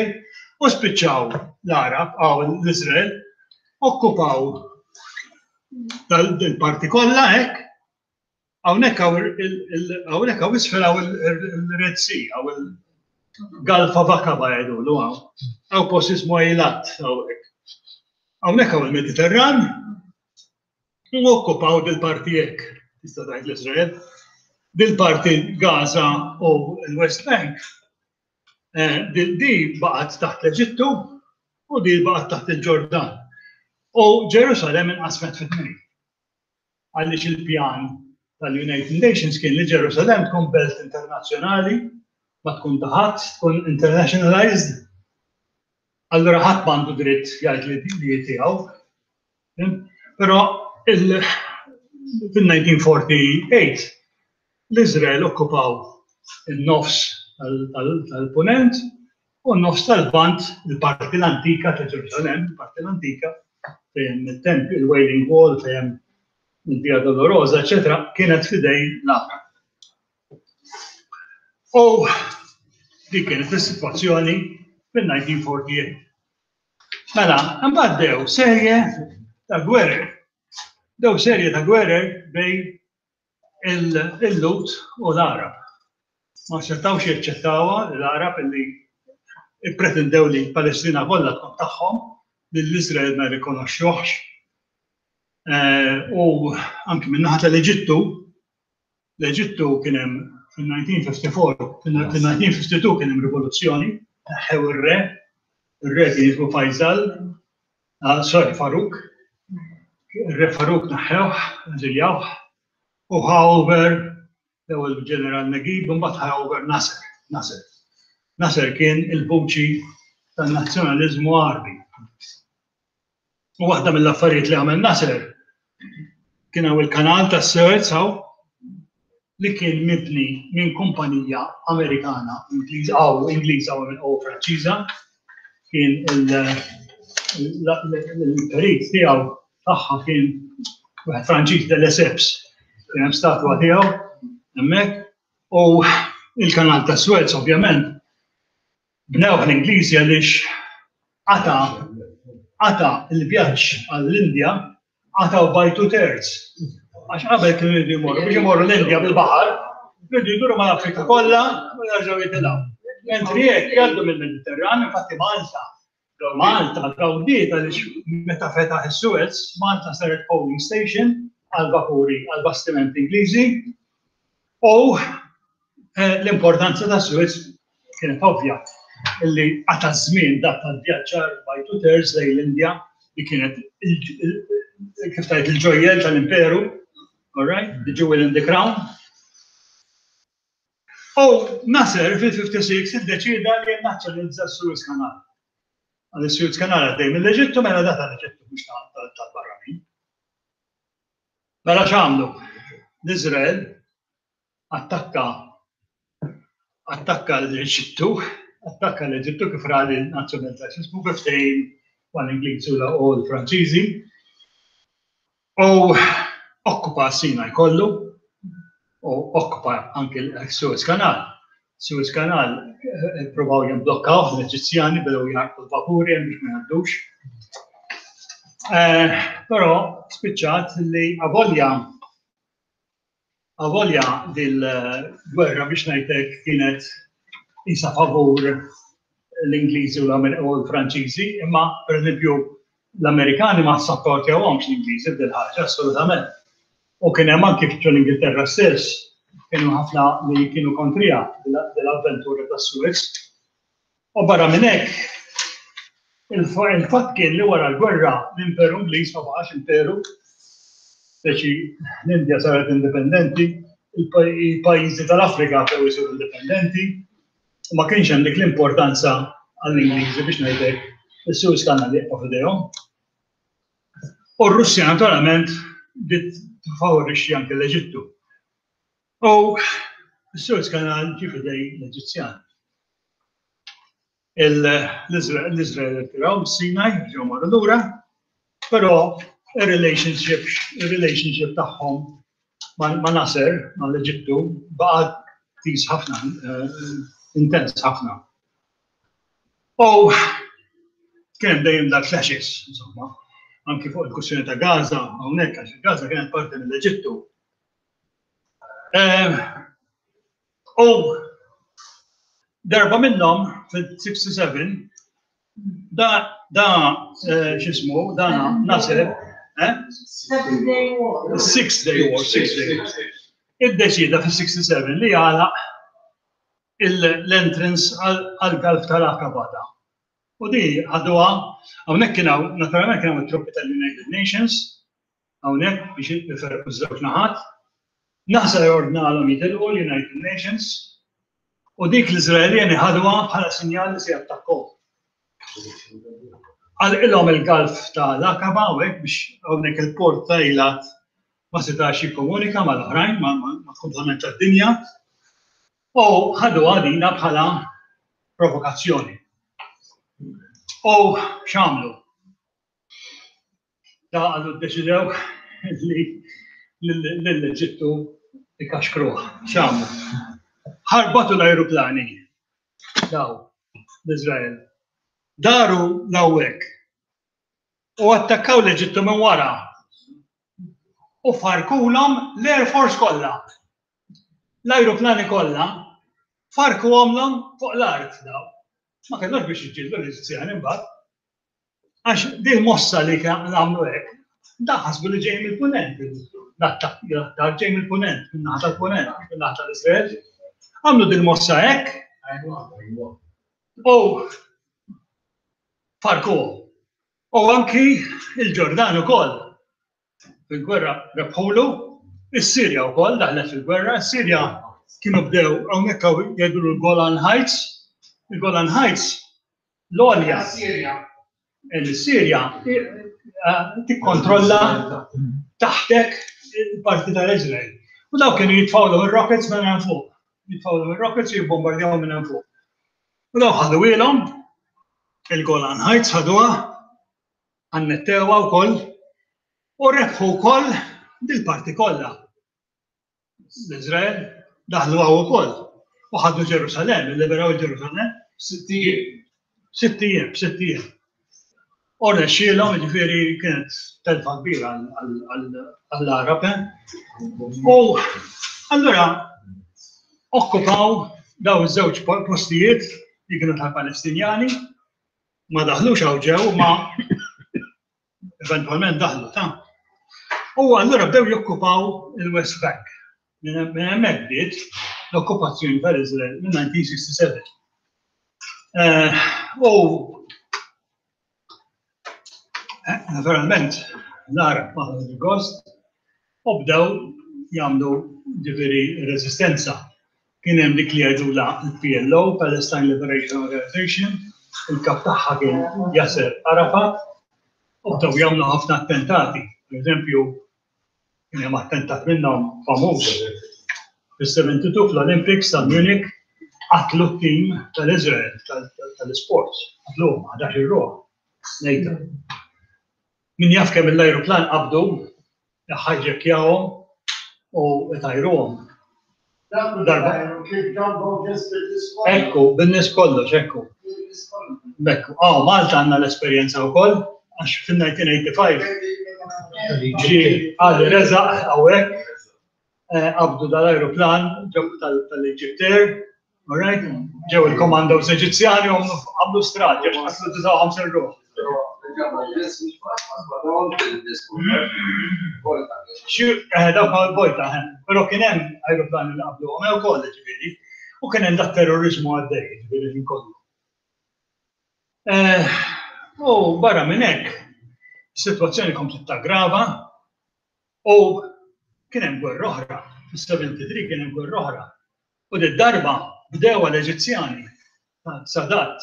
U spiċċaw l-Arab, għaw l-Izrael, okkupaw dal-parti kollha hekk. Hawnhekk hawnhekk hawn isfel hawn il-Red Sea, hawn il-Gulf of Aqaba jgħidulu hawn. Hawn post ismu Eilat hawnhekk. Hawnhekk hawn il-Mediterran u okkupaw dil-parti hekk, tista' tgħid l-Iżrael. Dil-parti Gaza u l-West Bank, eh, di baqgħet taħt l-Eġittu u di baqgħet taħt il-Ġordan. U Ġerusalem inqasmet fi tnejn. Għaliex il-pjan tal-United Nations kien li Ġerusalem tkun belt internazzjonali, ma tkun ta' ħadd, tkun internationalized. Allura ħadd m'għandu dritt jgħid li li tiegħu. Però fil-elf disa' mija u erbgħa u erbgħin l-Izrael okkupaw il-nofs tal-punent u n-nofs tal-Lvant, il-parti l-antika ta' Ġerusalem, il-parti l-antika, fejn il-tempju, il-Wailing Wall, fejn il-Via Dolorosa, eccetera, kienet f'idejn l-Għarab. U dik kienet is-sitwazzjoni fil-elf disa' mija u erbgħa u erbgħin. Mela, mbagħad bdew serje ta' gwerer. Bdew serje ta' gwerer bejn il-Lhud u l-Arab. Ma setgħux jaċċettawha l-Arab illi pretendew li Palestina kollha tkun tagħhom, li l-Izrael ma rikonoxxuhx. Eh, u anki min-naħa tal-Eġittu, l-Eġittu kien hemm fil-elf disa' mija u ħamsa u erbgħin, fil-elf disa' mija u ħamsa u ħamsin kien hemm rivoluzzjoni, neħħew ir-re, ir-re kien jismu Faisal, ah, sorry, Faruk, ir-re Faruk neħħewh, eżiljawh, u ħa over l-ewwel ġeneral Naguib, mbagħad ħa over Nasser, Nasser. Nasser kien il-vuċi tan-nazzjonaliżmu Għarbi. U waħda mill-affarijiet li għamel Nasser kien hawn il-kanal ta' Suez hawn li kien mibni minn kumpanija Amerikana, Ingliża aw Ingliża u Franċiża, kien il-perit tiegħu tagħha kien wieħed Franċiż, de Lesseps, kien hemm statwa tiegħu hemmhekk, u il-kanal ta' Suez ovvjament bnewh l-Ingliżi għaliex qata qata il-vjaġġ għall-Indja, qataw by two thirds. Għax qabel kienu jridu jmorru biex imorru l-Indja bil-baħar, jridu jduru mal-Afrika kollha u jerġgħu jitilgħu. Mentri jekk jgħaddu mill-Mediterran, infatti Malta, Malta gawdiet għaliex meta fetaħ is-Suez, Malta saret coaling station għal-vapuri, għal-bastimenti Ingliżi, u eh, l-importanza ta' Suez kienet ovvja illi qata' żmien dak tal-vjaġġar by two thirds lejn l-Indja li kienet kif tajt il-ġojjel tal-imperu, all right, the jewel in the crown. U Nasser fil-ħamsa u sittin iddeċida li nazzjonalizza s-Suez Canal. Għal is-Suez Canal għaddej mill-Eġittu, mela da tal-Eġittu, mhux tal-barranin. Mela x'għamlu? L-Izrael attakka attakka l-Eġittu, attakka l-Eġittu kif ra li nazzjonalizza kif ftehim mal-Ingliżi u l-Franċiżi. U okkupa Sinaj kollu, u okkupa anke l-Suez Canal. Suez Canal eh, provaw jimblokkaw l-Eġizzjani, bdew jaħarqu l-vapuri biex ma jgħaddux. Eh, però spiċċat li avolja avolja dil-gwerra biex ngħidlek kienet isa favur l-Ingliżi u l-Franċiżi, imma per eżempju l-Amerikani ma sapportjawhomx l-Ingliżi b'dil ħaġa assolutament. U kien hemm anki ġol-Ingilterra stess kienu ħafna li kienu kontrija dell-avventura tas-Suez. U barra minn hekk, il-fatt kien li wara l-gwerra l-Imperu Ingliż ma baqax imperu, speċi l-Indja saret indipendenti, il-pajjiżi tal-Afrika bdew isiru indipendenti, u ma kienx hemm dik l-importanza għall-Ingliżi biex ngħidlek is-Suez Canal jibqa' f'idejhom. U r-Russja naturalment bdiet tifavorixxi anke l-Eġittu. U s-Suez Canal ġie f'idej l-Eġizzjani. L-Izrael irtiraw Sinaj, ġew marru lura, però il-relationship il-relationship tagħhom ma' Nasser, ma' l-Eġittu, baqa' tis ħafna, eh, intens ħafna. U kien dejjem da clashes, insomma, anki fuq il-kwistjoni ta' Gaza, hawnhekk għax Gaza kienet parti mill-Eġittu. Eh, u darba minnhom fil-sitta u sebgħin da da eh, x'ismu, da Nasser, eh? Seven Day War. Six Day War, Six Day War. Iddeċida fil-sitta u sebgħin li għalaq l-entrance għal-Gulf tal-Aqaba da. U di ħaduha, hawnhekk kien hawn, naturalment kien hawn it-truppi tal-United Nations, hawnhekk biex jiferqu żewġ naħat. Nasser ordnalhom jitilqu l-United Nations u dik l-Iżraeljani ħaduha bħala sinjal li se jattakkaw. Għalqilhom il-Gulf tal-Aqaba hawnhekk biex hawnhekk il-port ta' Eilat ma setax jikkomunika mal-oħrajn, ma' tad-dinja. U ħaduha dina bħala provokazzjoni. U x'għamlu? Da għallu ddeċidew li l-Eġittu ikaxkruh. X'għamlu? Ħarbatu l-ajruplani. Daw, l-Izrael. Daru l-hawnhekk. U attakkaw l-Eġittu minn wara. U farkulhom l-Air Force kollha. L-ajruplani kollha farkuhomlhom fuq l-art daw. Ma kellux biex jiġġieldu l-Eġizzjani mbagħad. Għax din mossa li għamlu hekk, da ħasbu li ġej mill-punent. L-attakk ġej mill-punent, minn naħa tal-punent, minn naħa tal-Izrael. Għamlu din mossa hekk u farku. U anki il-Ġordan ukoll. Fil-gwerra rebħulu, is-Sirja wkoll daħlet fil-gwerra, is-Sirja kienu bdew hawnhekk jgħidu l-Golan Heights, il-Golan Heights l-għolja. Il-Sirja tikkontrolla taħtek il-parti tal-Izrael. U daw kienu jitfgħu il-rockets minn hemm fuq. Jitfgħu il-rockets u jibbombardjaw minn hemm fuq. U daw ħadu ilhom il-Golan Heights ħaduha, annettewha wkoll u rebħu wkoll dil-parti kollha. L-Izrael daħlu hawn ukoll u ħadu Ġerusalemm, illiberaw Ġerusalemm. Sitt ijiem. Sitt ijiem, sitt ijiem. U rnexxielhom, ġifieri kienet telfa kbira għall-Arab. U allura okkupaw daw iż-żewġ postijiet li kienu tal-Palestinjani, ma daħlux hawn ġew, ma eventualment daħlu ta' U allura bdew jokkupaw il-West Bank. Minn hemmhekk bdiet l-okkupazzjoni tal-Izrael minn elf disa' mija u sitta u sebgħin. U naturalment l-Arab ma gost u bdew jagħmlu ġifieri resistenza. Kien hemm dik li jgħidula l-P L O, Palestine Liberation Organization, il-kap tagħha kien Yasser Arafat, u bdew jagħmlu ħafna attentati. Per eżempju, kien hemm attentat minnhom famuż fis-sebgħa u sebgħin fl-Olympics ta' Munich, qatlu t-tim tal-Izrael tal-sports, qatluhom ħdax ruħ. Nejta. Min jaf kemm l-ajruplan qabdu, ħajġekjawhom u tajruhom. Darba. Ekku, bin-nies kollox, ekku. Ekku, ah, Malta għandna l-esperjenza wkoll, għax fil-elf disa' mija u ħamsa u tmenin ġi għali reżaq hawnhekk, qabdu dal-ajruplan ġew tal-Egypt Air, alright? Ġew il-commandos Eġizzjani u għamlu straġi, għax qatlu disgħa u ħamsin ruħ. Eh, dawk għal-bojta, eh, pero kien hemm ajruplani li qablu għom ukoll ġifieri, u kien hemm dat terrorizmu għaddej, ġifieri ħin kollu. Eh, u barra minn hekk, is-sitwazzjoni komplet taggrava u kien hemm gwerra oħra, fis-sebgħa u sebgħin kien hemm gwerra oħra. U di darba bdew l-Eġizzjani, Sadat,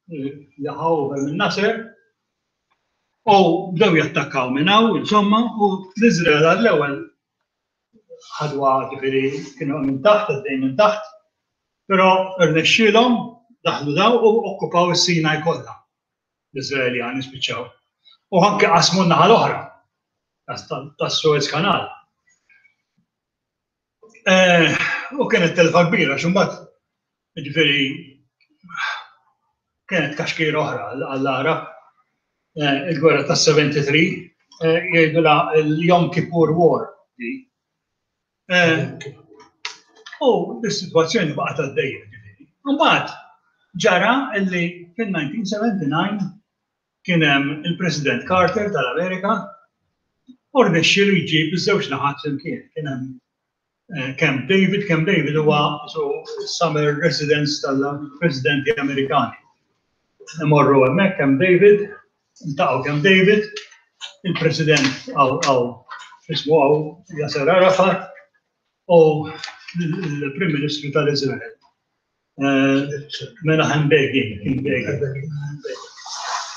li ħa over minn Nasser, u bdew jattakkaw minn hawn, insomma, u l-Iżrael għall-ewwel ħadwa ġifieri kienu minn taħt, għaddej minn taħt, però rnexxielhom daħlu daw u okkupaw is-Sinaj kollha. L-Iżraeljani spiċċaw. U anke qasmu n-naħa l-oħra tas-Suez Canal. Eh, u kienet telfa kbira, xumbat, ġifieri, kienet kaxkira oħra għall-Arab. Eh, il-gwerra tas sebgħa u sebgħin, eh, jgħidu la l-Yom Kippur War. U l-situazzjoni baqgħet għaddejja, ġifieri. Mbagħad ġara illi fil-elf disa' mija u sebgħa u sebgħin kien hemm il-President Carter tal-Amerika u rnexxielu jġib iż-żewġ naħat flimkien. Kien hemm eh, Camp David. Camp David huwa so summer residence tal-presidenti Amerikani. Imorru hemmhekk Camp David, iltaqgħu Camp David, il-President għaw għaw ismu għaw Yasser Arafat u l-Prim Ministru tal-Izrael. Eh, Menachem Begin, kien Begin.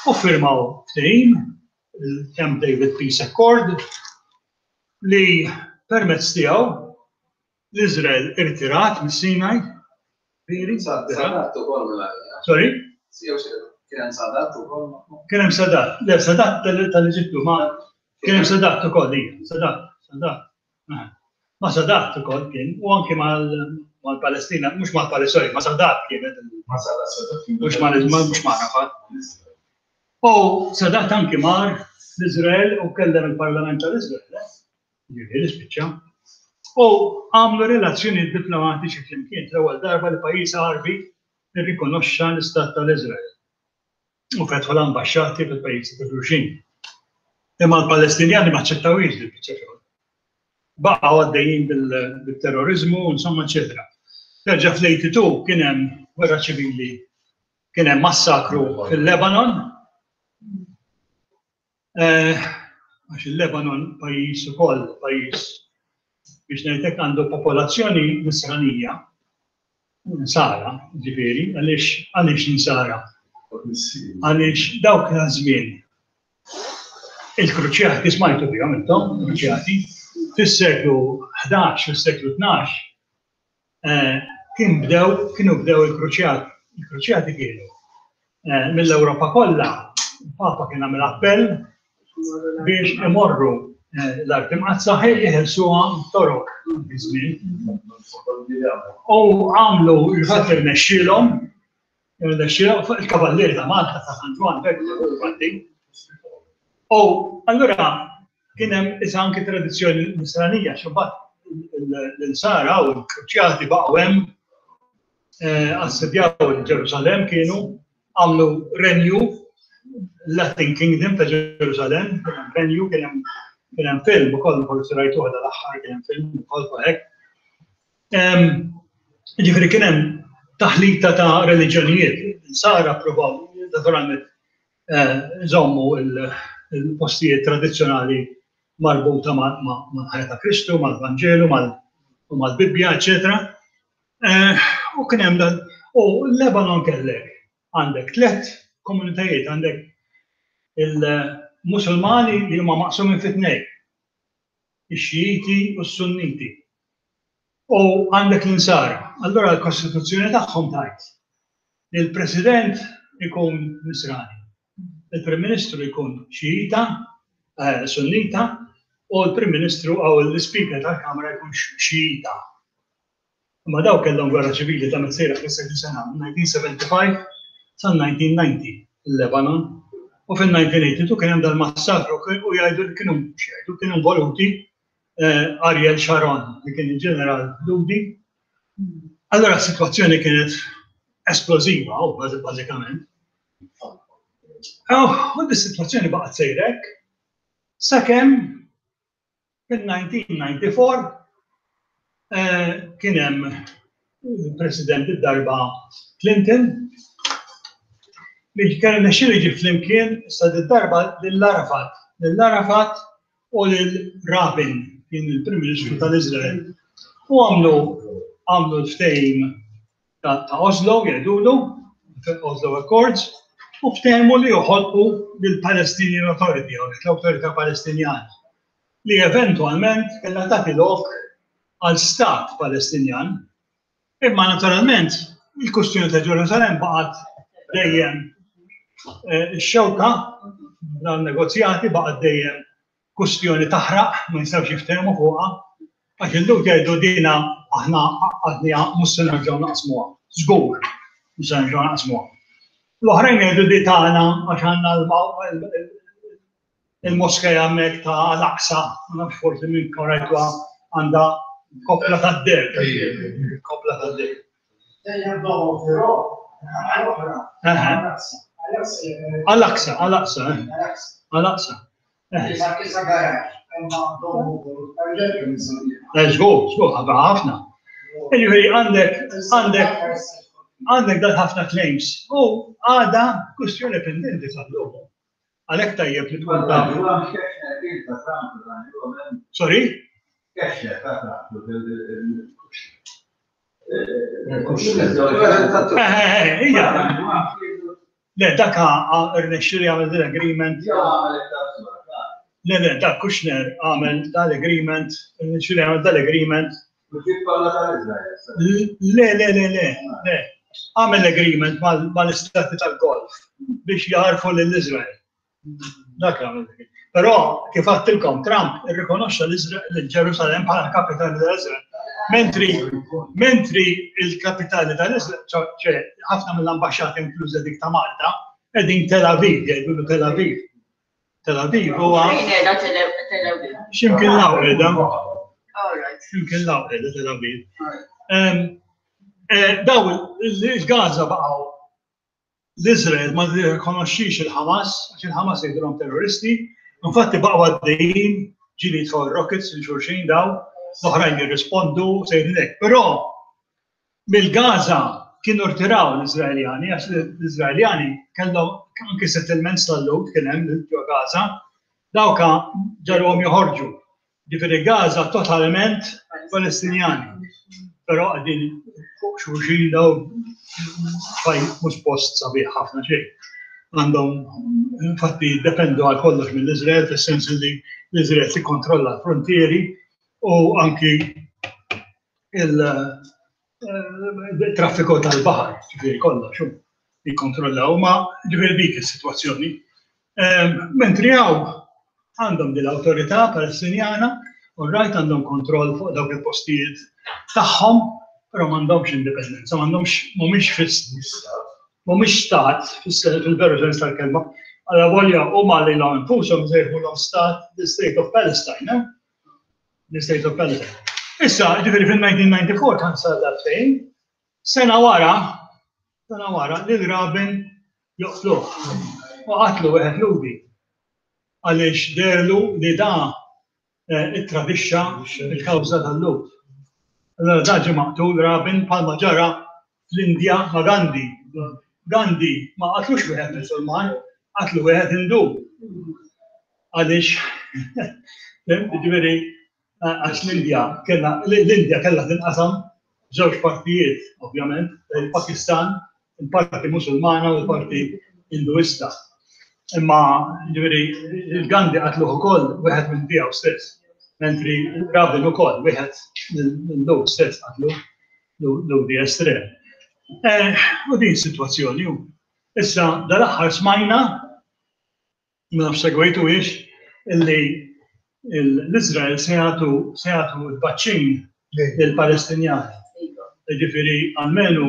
U firmaw ftehim, il-Camp David Peace Accord, li permezz tiegħu l-Izrael irtirat mis-Sinaj. Veri? Sadat ukoll mela. Sorry? Kien hemm Sadat ukoll. Kien hemm Sadat. Le, Sadat tal-Eġittu, ma kien hemm Sadat ukoll, ija, Sadat, Sadat. Ah. Ma Sadat ukoll kien, u anki mal-Palestina, mhux mal-Palestina, sorry, ma Sadat kienet, Ma Sadat, Sadat. mhux ma mhux ma Arafat. U Sadat anki mar l-Izrael u kellem il-Parlament tal-Izrael, eh? Ġifieri spiċċa. U għamlu relazzjoni diplomatiċi flimkien, l-ewwel darba li pajjiż Għarbi irrikonoxxa l-Istat tal-Izrael. U fetħu l-ambaxxati fil-pajjiżi ta' xulxin. Imma l-Palestinjani ma aċċettawhiex li biċċa xogħol. Baqgħu għaddejjin bil-terrorizmu, insomma, eċetera. Terġa' fl-tmienja u tmenin kien hemm gwerra ċivili, kien hemm massakru fil-Lebanon. Eh, Għax il-Lebanon pajjiż ukoll, pajjiż biex ngħidlek għandu popolazzjoni nisranija, nsara, ġifieri, għaliex għaliex nsara? Għaliex dawk żmien il-kruċjati, smajtu bihom intom, kruċjati, fis-seklu ħdax, fis-seklu tnax, eh, kien bdew, kienu bdew il-kruċjati. Il-kruċjati kienu eh, mill-Ewropa kollha, il-Papa kien għamel appell biex imorru eh, l-Art Imqaddsa jeħilsuha Torok żmien. U għamlu il-fatt irnexxielhom, irnexxielhom fuq il-Kavallieri ta' Malta ta' San Ġwann bekk. U allura kien hemm issa anki tradizzjoni nisranija, xi l-Insara u l-Kruċjati baqgħu hemm, eh, assedjaw il-Ġerusalem, kienu għamlu renju, Latin Kingdom ta' Ġerusalem, kien hemm renju, kien hemm kien hemm film ukoll, forsi rajtuh dal-aħħar, kien hemm film ukoll fuq hekk. Em, Ġifieri kien hemm taħlita ta' reliġjonijiet. Insara provaw naturalment eh, iżommu il-postijiet tradizzjonali marbuta mal-ħajja ta' Kristu, mal-Vanġelu, u mal-Bibbja, eċetera. Eh, U kien hemm dan, u l-Lebanon kellek għandek tliet komunitajiet, għandek il-Musulmani li huma maqsumin fi tnejn, ix-Xijiti u s-Sunniti. U għandek l-Insara. Allora l-Kostituzzjoni tagħhom tgħid li l-President ikun Nisrani, il-Prim Ministru jkun Xijita, eh, Sunnita, u l-Prim Ministru għaw l-Speaker tal-Kamra jkun Xijita. Ma daw kellhom gwerra ċivili ta' sejra fl sena, elf disa' mija u sebgħa u sebgħin sa' elf disa' mija u disgħin il-Lebanon. U fil-elf disa' mija u tmenaħa u disgħin kien hemm dal-massakru u jgħidu li kienu jgħidu kienu involuti eh, Ariel Sharon, li kien il-ġeneral Lhudi. Allora s-situazzjoni kienet esplosiva, u bażikament. Oh, u dis-situazzjoni baqgħet sejrek sakemm fil-elf disa' mija u disgħa u disgħin eh, kien hemm il-President id-darba Clinton li kien nexxielu jiġi flimkien issa darba lil Arafat, lil Arafat u lil Rabin, kien il-Prim Ministru tal-Izrael. U għamlu għamlu l-ftehim ta' ta' Oslo, jgħidulu, Oslo Accords, u ftehmu li joħolqu lill-Palestinian Authority, jew l-Awtorità Palestinjana, li eventualment kellha tagħti lok għal stat Palestinjan. Imma naturalment il-kustjoni ta' Ġerusalem baqgħet dejjem eh, ix-xewka dan-negozjati, baqgħet dejjem kustjoni taħraq, ma jistgħux jiftehmu fuqha, għax il-Lhud jgħidu dina aħna għadniha, mhux se nerġgħu naqsmuha. Żgur, mhux se nerġgħu naqsmuha. L-oħrajn jgħidu di tagħna għax għandna il-moskea hemmhekk ta' Al-Aqsa, ma nafx forsi minn rajtuha, għandha Koppla tad-deheb. Koppla tad-deheb. Al-Aqsa, Al-Aqsa. Al-Aqsa. Żgur, żgur, ħafna. Jiġifieri għandek, għandek, għandek dan ħafna claims. U għada kwistjoni pendenti sal-lum. Għalhekk tajjeb li tkun taf. Sorry? Ija. Le, dak irnexxieli għamel din agreement. Le, le, dak Kushner għamel dal-agreement, irnexxieli għamel dal-agreement. Le, le, le, le, le. Għamel agreement mal-istati tal-Golf biex jarfu lill-Izrael. Dak għamel. Però, kif għedtilkom, Trump irrikonoxxa l-Ġerusalem bħala kapitali tal-Izrael. Mentri, mentri il-kapitali tal-Izrael, ċe, ħafna mill-ambaxxati inkluża dik ta' Malta, qegħdin Tel Aviv, jgħidulu Tel Aviv. Tel Aviv huwa. Fejn qiegħda Tel Aviv? X'imkien law qiegħda. X'imkien law qiegħda Tel Aviv. Daw il-Gaza baqgħu l-Izrael ma rikonoxxix il-Ħamas, għax il-Ħamas jgħidulhom terroristi, infatti baqgħu għaddejjin ġieli jitfgħu rockets lil xulxin daw, l-oħrajn jirrispondu sejrin hekk. Però mill-Gaza kienu rtiraw l-Iżraeljani, għax l-Iżraeljani kellhom anke settlements tal-Lhud kien hemm ġo Gaza, dawka ġarhom joħorġu. Ġifieri Gaza totalment Palestinjani. Però qegħdin fuq xulxin daw mhux post sabiħ ħafna xejn. Għandhom, infatti, dependu għal kollox mill-Iżrael, fis-sens li l-Iżrael tikkontrolla l-frontieri u anki il-traffiku tal-baħar, ġifieri kollox, jikkontrollaw, ma ġifieri dik is-sitwazzjoni. Mentri hawn għandhom din l-awtorità Palestinjana, u rajt għandhom kontroll fuq dawk il-postijiet tagħhom, però m'għandhomx indipendenza, m'għandhomx, mhumiex fis, mhumiex stat fil-veru sens tal-kelma. Alla volja huma lilhom infushom sejħulhom stat, the State of Palestine, eh? The State of Palestine. Issa, ġifieri fil-nineteen ninety-four kan sar dak fejn, sena wara, sena wara lil Rabin joqtluh. U qatlu wieħed Lhudi. Għaliex derlu li da ittradixxa il-kawża tal-Lhud. Allora da ġie maqtul Rabin bħalma ġara fl-Indja ma' Gandhi. Gandhi ma qatlux wieħed Musulman, qatlu wieħed Hindu. Għaliex, ġifieri, għax l-Indja kellha, l-Indja kellha tinqasam żewġ partijiet, ovvjament, il-Pakistan, il-parti Musulmana u l-parti Hinduista. Imma, ġifieri, il-Gandhi qatluh ukoll wieħed minn tiegħu stess, mentri Rabin ukoll wieħed minn Lhud stess qatlu Lhudi estrem. U din sitwazzjoni hu. Issa dal-aħħar smajna, ma nafx segwejtu hiex, illi l-Iżrael se jagħtu, se jagħtu l-vaċċin lill-Palestinjani. Ġifieri almenu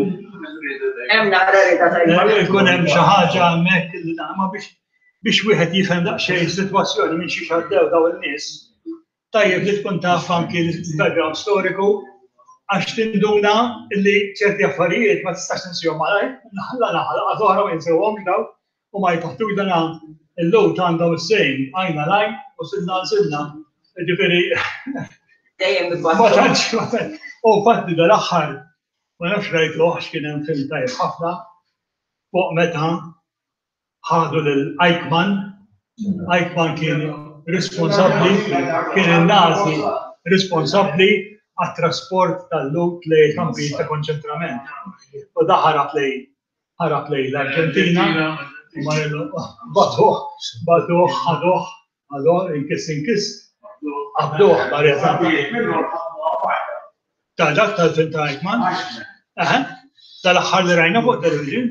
Hemm naqra rida tajba. Ikun hemm xi ħaġa hemmhekk li nagħmel biex, biex wieħed jifhem daqsxejn is-sitwazzjoni minn xi għaddew daw in-nies. Tajjeb li tkun taf anki l-background storiku għax tinduna li ċerti affarijiet ma tistax tinsihom malajr, la naħa laqgħa oħra ma jinsewhomx daw u ma jpattux dana l-Lhud għandhom is-sejn għajna lajn u silna għal silna. Ġifieri Dejjem Ma tantx, ma tantx. U fatti dal-aħħar ma nafx rajtuh x'kien hemm film tajjeb ħafna fuq meta ħadu lil Eichmann. Eichmann kien responsabbli, kien il-Nazi responsabbli għat-trasport tal-Lhud lejn kampijiet ta' konċentrament. U da ħarab lejn, ħarab lejn l-Arġentina, batuh, batuh, ħaduh, ħaduh, inkiss, inkiss, qabduh, barja. Ta' dak tal-film ta' Eichmann? Aha, tal-aħħar li rajna fuq television.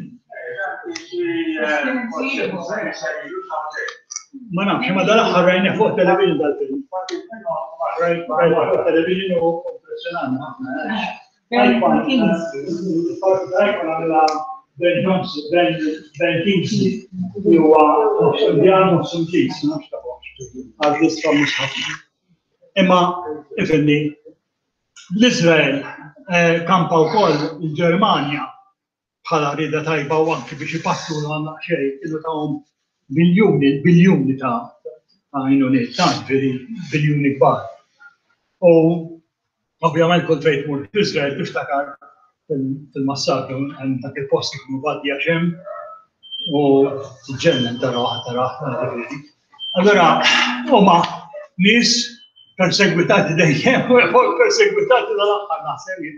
Ma nafx, ma dal-aħħar rajna fuq television dal-film. Rajna fuq television u impressionanti ħafna. Eichmann, Eichmann għamilha Ben Johnson, Ben, Ben Kingsley, li huwa nofs Indjan, nofs Ingliż, ma nafx ta' fuq. Għal lista mhux ħafna. Imma, ifhimni, L-Izrael eh, kampa wkoll il-Ġermanja bħala rieda tajba u anki biex ipattu għandna xejn kienu tawhom biljuni, biljuni ta' ta' għajnuniet, ta' ġifieri biljuni kbar. U ovvjament kull fejn tmur fl-Izrael tiftakar fil-massakru hemm dak il-post ikunu Wadi Hashem u tiġġennen taraħ taraħ ġifieri. Allora huma nies persegwitati dejjem, persegwitati dal-aħħar naħseb jien.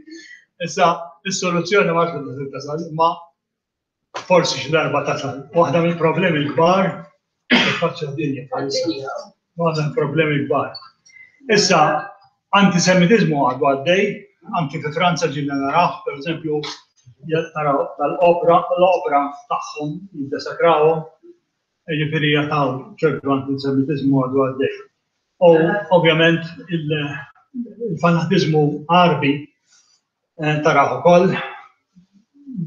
Issa is-soluzzjoni ma tkunx tasal, imma forsi xi darba tasal. Waħda mill-problemi l-kbar faċċa d-dinja bħalissa. Waħda mill-problemi l-kbar. Issa, antisemitizmu għadu għaddej, anki fi Franza ġilna naraw, per eżempju, naraw dal-opra, l-opra tagħhom jiddesakrawhom, ġifieri jataw ċertu antisemitizmu għadu għaddej. U ovvjament il-fanatizmu Għarbi eh, taraw ukoll,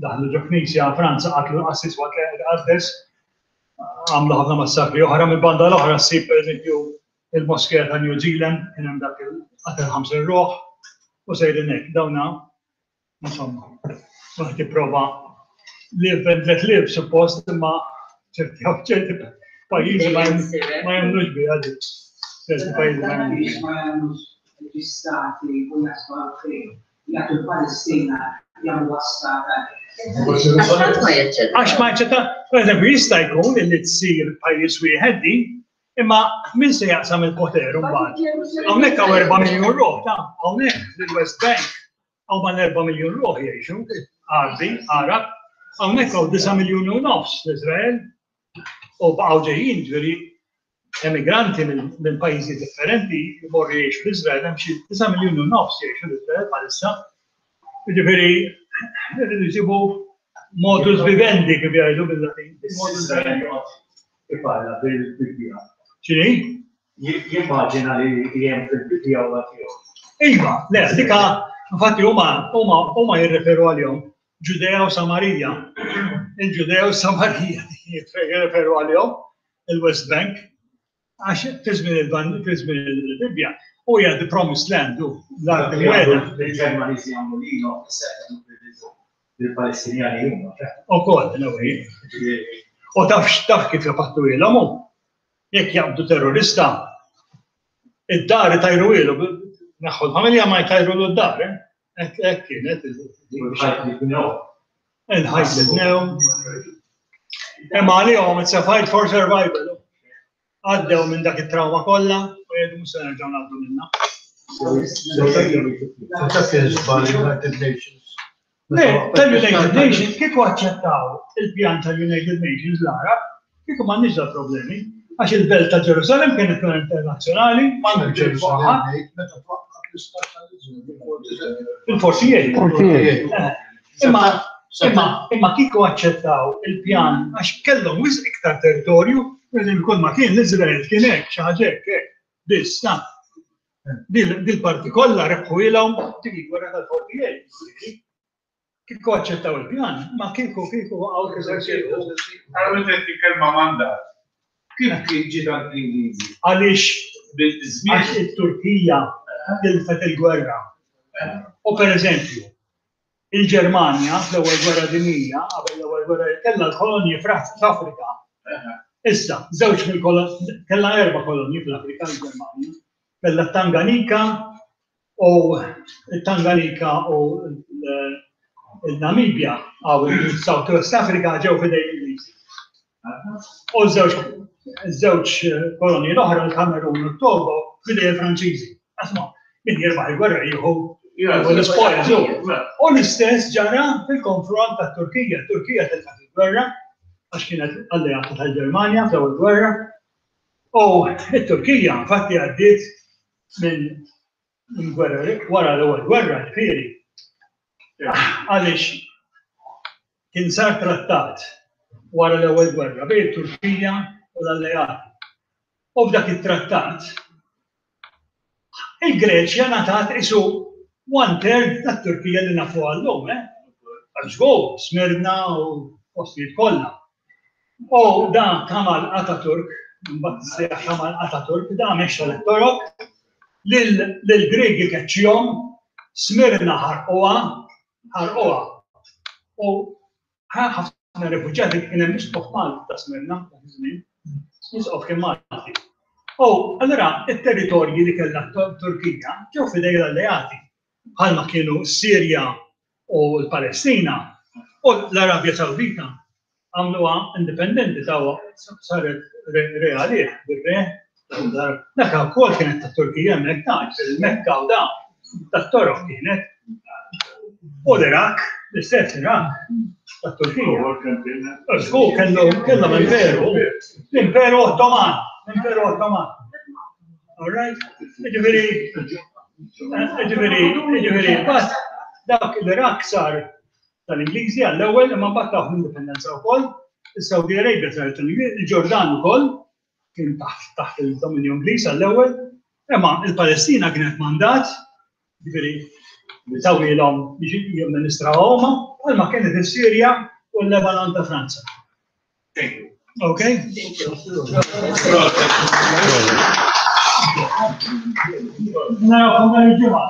daħlu ġo knisja Franza qatlu l-qassis waqt li qaddes, għamlu ħafna massakri oħra. Mill-banda l-oħra ssib pereżempju il-moskea ta' New Zealand, kien hemm dak il-qatel ħamsin ruħ, u sejrin hekk, dawna, insomma, wieħed jipprova live and let live suppost, imma ċerti ċerti pajjiżi ma ma jemmnux biha di. Ċerti pajjiżi ma jemmnux. Ma jagħmlux l-istati u jaslu għal jagħtu l-Palestina jagħmlu stat. Għax ħadd ma jaċċetta. Għax ma jaċċetta, per eżempju, jista' jkun illi tsir pajjiż wieħed din, imma min se jaqsam il-poter mbagħad? Hawnhekk hawn erba' miljun ruħ, ta' hawnhekk fil-West Bank hawn mal erba' miljun ruħ jgħixu, Għarbi, Arab, hawnhekk hawn disa' miljun u nofs l-Iżrael u baqgħu ġejjin, ġifieri emigranti minn pajjiżi differenti jmorru jgħixu l-Iżrael, hemm xi disa' miljun u nofs jgħixu l-Iżrael bħalissa. Ġifieri rridu jsibu modus vivendi kif jgħidu bil-Latin. Modus vivendi. Iparla bil-Bibbja. X'inhi? Jimmaġina li hemm fil-Bibbja u tiegħu. Iva, le, dika, infatti huma huma huma jirreferu għalihom Ġudea u Samarija. Il-Ġudea u Samarija jirreferu għalihom il-West Bank għax fi żmien il-żmien il-Bibbja u hija the promised land u l-art imwiegħda. Il-Ġermaniżi jagħmlu lilhom, issa il-Palestinjani huma. Ukoll, in a way. U taf taf kif japattu ilhom hu. Jekk jaqbdu terrorista, id-dar tajru ilu, naħħu l-familja ma jtajru l-dar, eh? Hekk kienet. Il-ħajt li bnew. Il-ħajt li bnew. Imma għalihom it's a fight for survival. Għaddew minn dak it-trauma kollha u jgħidu mhux se nerġgħu ngħaddu minnha. Dak kien żball United Nations. Le, tal-United Nations, kieku aċċettaw il-pjan tal-United Nations l-Arab, kieku m'għandniex da problemi. Għax il-belt ta' Ġerusalem kienet tkun internazzjonali, m'għandu Ġerusalem meta twaqqaf l-istat tal-Iżrael. Il-forty-eight. Imma imma imma kieku aċċettaw il-pjan għax kellhom wisq iktar territorju, per kull ma kien l-Iżrael kien hekk xi ħaġa hekk hekk. Biss, ta' dil-parti kollha rebħu ilhom dik il-gwerra tal-forty-eight. Kieku aċċettaw il-pjan, ma kieku kieku waqgħu kif Għara meta kelma mandat. Kif kien ġiet għand l-Ingliżi? Għaliex Bil-żmien għax it-Turkija tilfet il-gwerra. U per eżempju, il-Ġermanja fl-ewwel gwerra dinjija, qabel l-ewwel gwerra kellha l-kolonji fl-Afrika. Issa, żewġ mill-kolonji, kellha erba' kolonji fl-Afrika l-Ġermanja. Kellha Tanganika u Tanganika u il-Namibja għaw il-South West Africa ġew fidej l-Ingliżi. U żewġ żewġ kolonji l-oħra, l-Kamerun u t-Togo, fidej il-Franċiżi. Asma, min jirbaħ il-gwerra jieħu l-spoils. U l-istess ġara fil-konfront ta' Turkija. Turkija tilfet il-gwerra, għax kienet alleata tal-Ġermanja fl-ewwel gwerra. U t-Turkija infatti għaddiet minn gwerra wara l-ewwel gwerra, ġifieri. Għaliex kien sar trattat wara l-ewwel gwerra bejn it-Turkija u l-alleati. U f'dak it-trattat il-Greċja ngħatat isu one third tat-Turkija li nafu għallum, eh? Għax Smirna u postijiet kollha. U da Kamal Ataturk, mbagħad sejjaħ Kamal Ataturk, da mexxa lit-Torok, lill-Gregi keċċihom Smirna ħarquha, ħarquha. U ħafna rifuġjati kien hemm isqof Malti ta' Smirna dak iż-żmien. Isqof kien Malti. U allura it-territorji li kellha Turkija ġew f'idej l-alleati, bħalma kienu Sirja u l-Palestina u l-Arabja Sawdita għamluha indipendenti, tawha, saret reali bir-re. Dak ukoll kienet ta' Turkija hemmhekk, ta' il-Mekka u da tat-Torok kienet. U l-Iraq, l-istess Iraq ta' Turkija. Żgur kellu kellhom imperu, l-Imperu Ottoman, l-Imperu Ottoman. All right? Ġifieri, ġifieri, ġifieri, but dak l-Iraq sar tal-Ingliżi għall-ewwel, imma mbagħad tawh l-indipendenza wkoll, is-Saudi Arabia saret tal-Ingliżi, il-Ġordan ukoll kien taħt taħt il-dominju Ingliż għall-ewwel, imma il-Palestina kienet mandat, ġifieri li tawilhom biex jamministraw huma, bħalma kienet is-Sirja u l-Lebanon ta' Franza. Okay? Thank you. Narawkom nhar il-Ġimgħa.